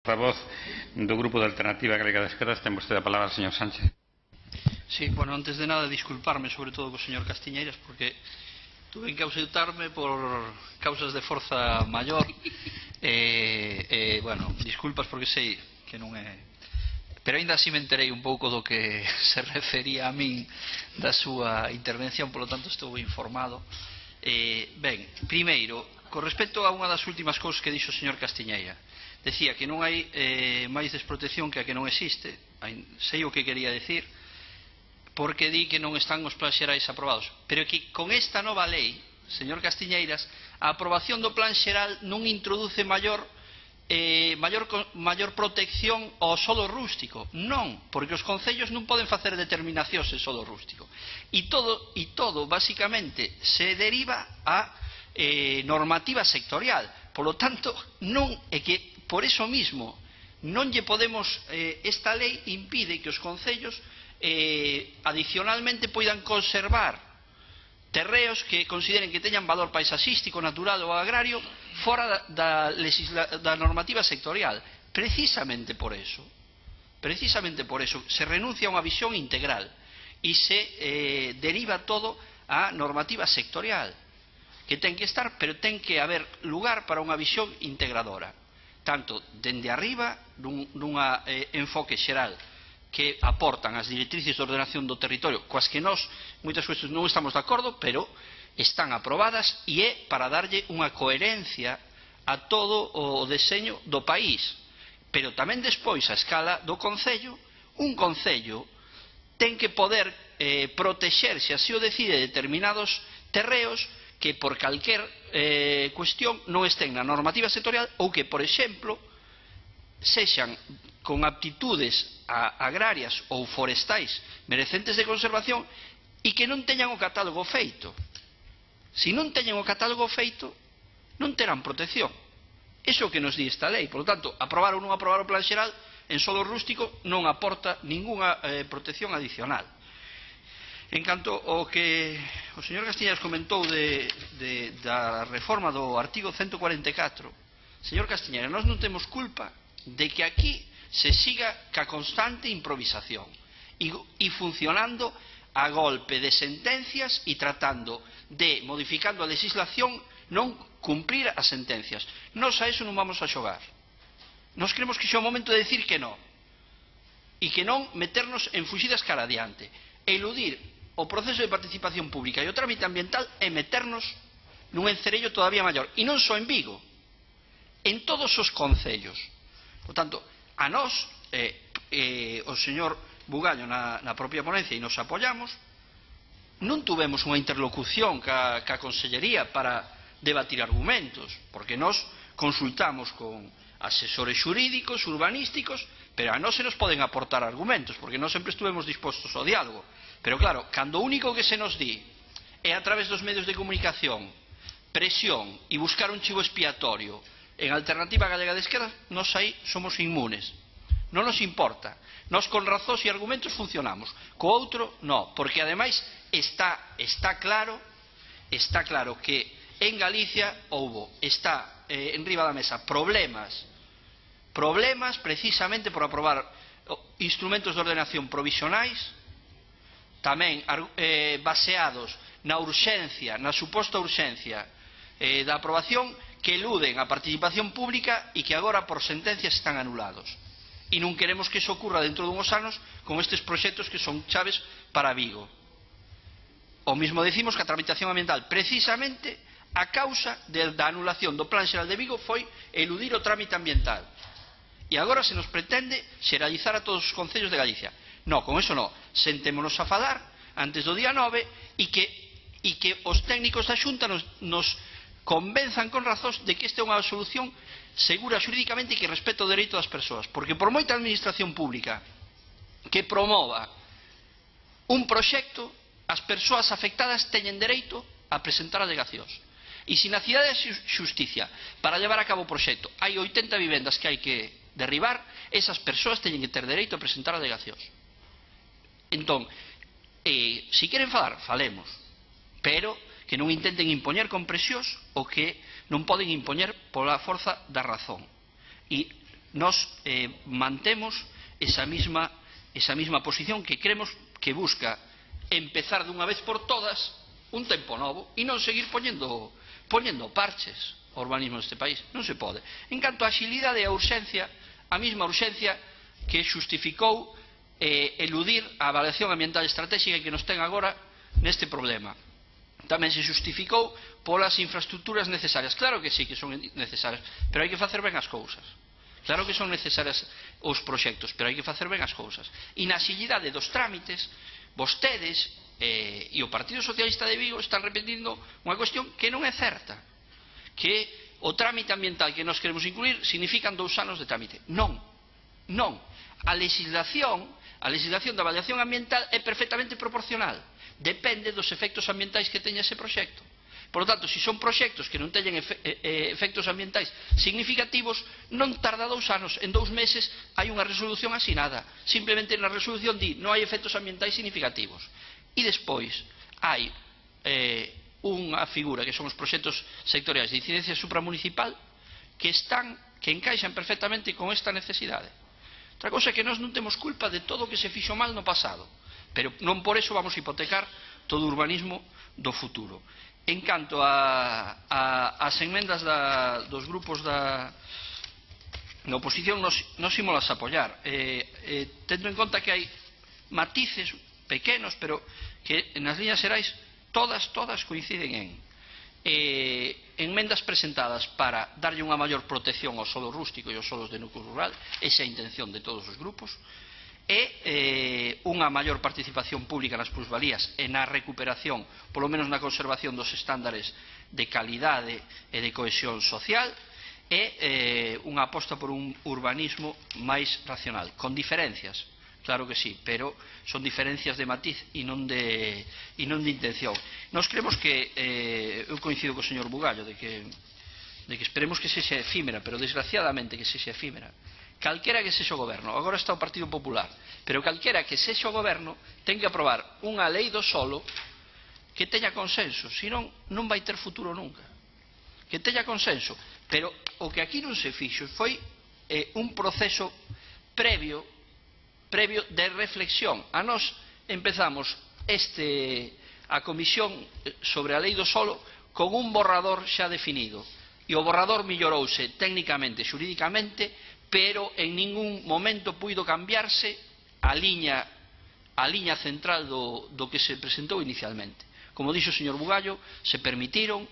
Portavoz do Grupo de Alternativa Galega de Esquerdas, ten vostede a palabra, señor Sánchez. Sí, bueno, antes de nada disculparme sobre todo co señor Castiñeiras porque tuve que ausentarme por causas de forza maior bueno, disculpas porque sei que non é, pero ainda así me enterei un pouco do que se refería a min da súa intervención, polo tanto estou informado. Ben, primeiro, con respecto a unha das últimas cousas que dixo o señor Castiñeira, decía que non hai máis desprotección que a que non existe. Sei o que quería decir, porque di que non están os plans xerais aprobados, pero que con esta nova lei, señor Castiñeiras, a aprobación do plan xeral non introduce maior protección ao solo rústico. Non, porque os concellos non poden facer determinacións en solo rústico. E todo basicamente se deriva a normativa sectorial. Por lo tanto, non é que por eso mismo non lle podemos, esta lei impide que os concellos adicionalmente poidan conservar terreos que consideren que teñan valor paisaxístico, natural ou agrario fora da normativa sectorial. Precisamente por eso se renuncia a unha visión integral e se deriva todo a normativa sectorial, que ten que estar, pero ten que haber lugar para unha visión integradora, tanto dende arriba nun enfoque xeral que aportan as directrices de ordenación do territorio, coas que nós moitas cuestións non estamos de acordo, pero están aprobadas e é para darlle unha coherencia a todo o deseño do país. Pero tamén despois, a escala do concello, un concello ten que poder protexer, se así o decide, determinados terreos que por calquer cuestión non estén na normativa sectorial ou que, por exemplo, sexan con aptitudes agrarias ou forestais merecentes de conservación e que non teñan o catálogo feito. Se non teñen o catálogo feito, non terán protección. Iso é o que nos di esta lei. Por lo tanto, aprobar ou non aprobar o plan xeral en solo rústico non aporta ningunha protección adicional. En canto ao que o señor Castiñeiras comentou da reforma do artigo 144, señor Castiñeiras, nós non temos culpa de que aquí se siga ca constante improvisación e funcionando a golpe de sentencias e tratando de, modificando a legislación, non cumprir as sentencias. Nos a eso non vamos a xogar. Nos creemos que xa é o momento de decir que non, e que non meternos en fuxidas cara adiante. Eludir o proceso de participación pública e o trámite ambiental é meternos nun encerello todavía maior, e non só en Vigo, en todos os concellos. Por tanto, a nós, o señor Bugallo na propia ponencia, e nos apoiamos, non tuvemos unha interlocución ca Consellería para debatir argumentos, porque nós consultamos con asesores xurídicos, urbanísticos, pero a nós se nos poden aportar argumentos, porque nós sempre estuvemos dispostos ao diálogo. Pero claro, cando o único que se nos di é a través dos medios de comunicación, presión e buscar un chivo expiatorio en Alternativa Galega de Esquerdas, nós aí somos inmunes. Non nos importa. Nós con razóns e argumentos funcionamos. Co outro, non. Porque ademais está claro que en Galicia está enriba da mesa problemas precisamente por aprobar instrumentos de ordenación provisionais, tamén baseados na urxencia, na suposta urxencia da aprobación, que eluden a participación pública e que agora por sentencias están anulados. E non queremos que iso ocurra dentro dunhos anos con estes proxectos que son chaves para Vigo. O mismo decimos que a tramitación ambiental, precisamente a causa da anulación do Plan Xeral de Vigo foi eludir o trámite ambiental. E agora se nos pretende xeralizar a todos os concellos de Galicia. Non, con eso non. Sentémonos a falar antes do día 9 e que os técnicos da Xunta nos convenzan con razóns de que esta é unha solución segura xurídicamente e que respeta o dereito das persoas. Porque por moita administración pública que promova un proxecto, as persoas afectadas teñen dereito a presentar alegacións. E se na cidade de xusticia, para levar a cabo o proxecto, hai 80 vivendas que hai que derribar, esas persoas teñen que ter dereito a presentar alegacións. Entón, se queren falar, falemos, pero que non intenten impoñer con presións o que non poden impoñer pola forza da razón. E Nos mantemos esa misma posición que creemos que busca empezar dunha vez por todas un tempo novo e non seguir poñendo parches ao urbanismo deste país. Non se pode. En canto a axilidade e a urxencia, a mesma urxencia que xustificou eludir a avaliación ambiental estratégica que nos ten agora neste problema. Tamén se xustificou polas infraestructuras necesarias. Claro que sí que son necesarias, pero hai que facer ben as cousas. Claro que son necesarias os proxectos, pero hai que facer ben as cousas. E na axilidade dos trámites, vostedes e o Partido Socialista de Vigo están repetindo unha cuestión que non é certa, que o trámite ambiental que nos queremos incluir significan 2 anos de trámite. Non, non. A legislación da avaliación ambiental é perfectamente proporcional. Depende dos efectos ambientais que teña ese proxecto. Por lo tanto, se son proxectos que non teñen efectos ambientais significativos, non tarda 2 anos. En 2 meses hai unha resolución asinada. Simplemente na resolución di non hai efectos ambientais significativos. E despois hai unha figura que son os proxectos sectoriais de incidencia supramunicipal que encaixan perfectamente con esta necesidade. Outra cosa é que nós non temos culpa de todo o que se fixo mal no pasado, pero non por eso vamos a hipotecar todo o urbanismo do futuro. En canto ás enmendas dos grupos da oposición, nos ímolas apoiar, tendo en conta que hai matices pequenos, pero que nas líneas xerais todas coinciden en enmendas presentadas para darlle unha maior protección ao solo rústico e aos solos de núcleo rural, esa é a intención de todos os grupos, e unha maior participación pública nas plusvalías e na recuperación, polo menos na conservación dos estándares de calidade e de cohesión social, e unha aposta por un urbanismo máis racional, con diferencias. Claro que sí, pero son diferencias de matiz e non de intención. Nos creemos que, eu coincido co señor Bugallo, de que esperemos que sexa efímera, pero desgraciadamente que sexa efímera. Calquera que sexa o goberno, agora está o Partido Popular, pero calquera que sexa o goberno ten que aprobar unha lei do solo que teña consenso, senón non vai ter futuro nunca. Que teña consenso, pero o que aquí non se fixo foi un proceso previo de reflexión. A nós empezamos a comisión sobre a lei do solo con un borrador xa definido, e o borrador mellorouse técnicamente, xurídicamente, pero en ningún momento puido cambiarse a liña central do que se presentou inicialmente. Como dixo o señor Bugallo, se permitiron,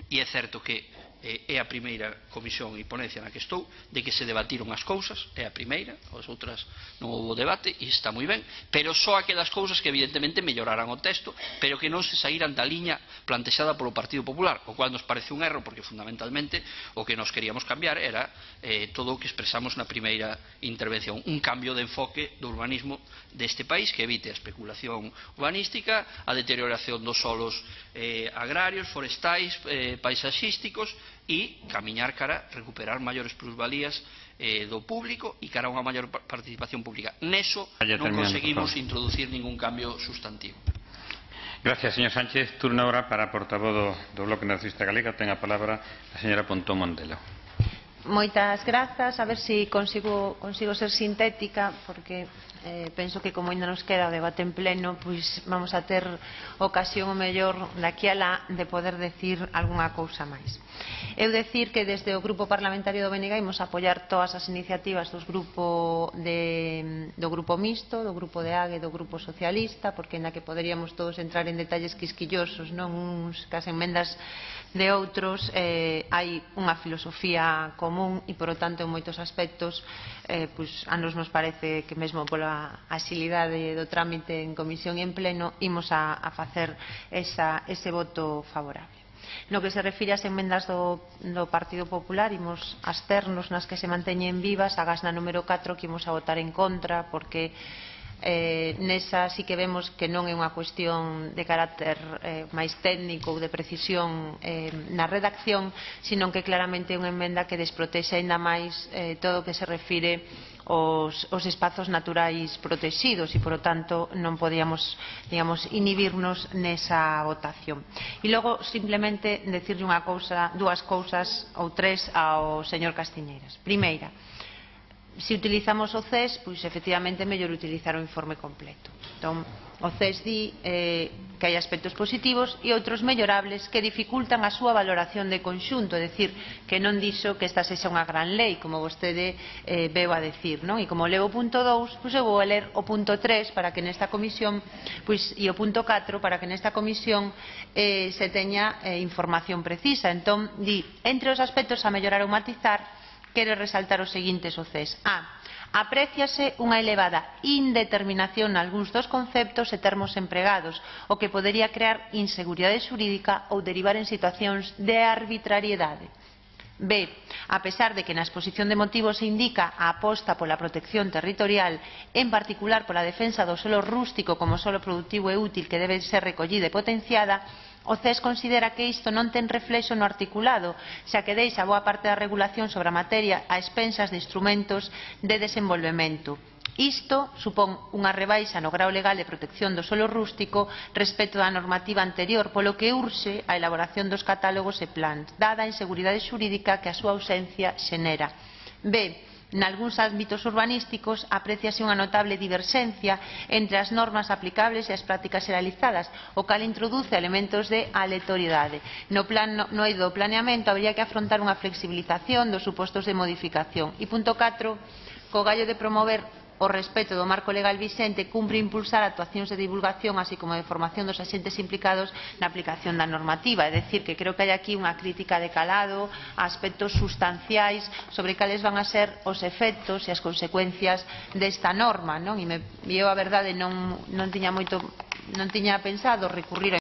e é certo que é a primeira comisión e ponencia na que estou, de que se debatiron as cousas, é a primeira, as outras non houve debate, e está moi ben, pero só aquelas cousas que evidentemente melloraran o texto, pero que non se saíran da liña plantexada polo Partido Popular, o cual nos parece un erro, porque fundamentalmente o que nos queríamos cambiar era todo o que expresamos na primeira intervención, un cambio de enfoque do urbanismo deste país que evite a especulación urbanística, a deterioración dos solos agrarios, forestais, paisaxísticos, e camiñar cara a recuperar maiores plusvalías do público e cara a unha maior participación pública. Neso non conseguimos introducir ningún cambio sustantivo. Gracias, señor Sánchez. Turno ahora para a portavoz do Bloque Nacionalista Galega. Ten a palabra a señora Pontón Mondelo. Moitas grazas, a ver se consigo ser sintética, porque penso que como ainda nos queda o debate en pleno, pois vamos a ter ocasión o mellor daqui a lá de poder decir algunha cousa máis. Eu decir que desde o Grupo Parlamentario do BNG imos apoiar todas as iniciativas do Grupo Mixto, do Grupo de AGE, do Grupo Socialista, porque na que poderíamos todos entrar en detalles quisquillosos, non uns cas enmendas de outros, hai unha filosofía común e, por lo tanto, en moitos aspectos a nos parece que mesmo pola axilidade do trámite en comisión e en pleno imos a facer ese voto favorable. No que se refire ás enmendas do Partido Popular, imos absternos nas que se manteñen vivas, agás na número 4 que imos a votar en contra, porque nesa sí que vemos que non é unha cuestión de carácter máis técnico ou de precisión na redacción, sino que claramente é unha enmenda que desprotexe aínda máis todo o que se refire aos espazos naturais protegidos e, por lo tanto, non podíamos, digamos, inhibirnos nesa votación. E logo, simplemente, decirlle dúas cousas ou tres ao señor Castiñeiras. Primeira, se utilizamos o CES, pois efectivamente é mellor utilizar o informe completo. Entón, o CES di que hai aspectos positivos e outros mellorables que dificultan a súa valoración de conxunto, é dicir, que non dixo que esta sexa unha gran lei, como vostede veu a decir, non? E como leo o punto 2, pois eu vou a ler o punto 3 para que nesta comisión, pois, e o punto 4 para que nesta comisión se teña información precisa. Entón, di, entre os aspectos a mellorar ou matizar, quere resaltar os seguintes o CES. Apréciase unha elevada indeterminación nalgúns dos conceptos e termos empregados, o que podería crear inseguridade xurídica ou derivar en situacións de arbitrariedade. B. A pesar de que na exposición de motivos se indica a aposta pola protección territorial, en particular pola defensa do solo rústico como solo productivo e útil que debe ser recollida e potenciada, o CES considera que isto non ten reflexo no articulado, xa que deixa boa parte da regulación sobre a materia a expensas de instrumentos de desenvolvemento. Isto supón unha rebaixa no grao legal de protección do solo rústico respecto da normativa anterior, polo que urxe a elaboración dos catálogos e plans, dada a inseguridade xurídica que a súa ausencia xenera. B. Nalgúns ámbitos urbanísticos apréciase unha notable diverxencia entre as normas aplicables e as prácticas realizadas, o cal introduce elementos de aleatoriedade. No eido do planeamento habría que afrontar unha flexibilización dos supostos de modificación. E punto 4, co gallo de promover o respeto do marco legal vixente, cumpre impulsar actuacións de divulgación así como de formación dos axentes implicados na aplicación da normativa. É dicir, que creo que hai aquí unha crítica de calado a aspectos sustanciais sobre cales van a ser os efectos e as consecuencias desta norma, non? E eu, a verdade, non tiña pensado recurrir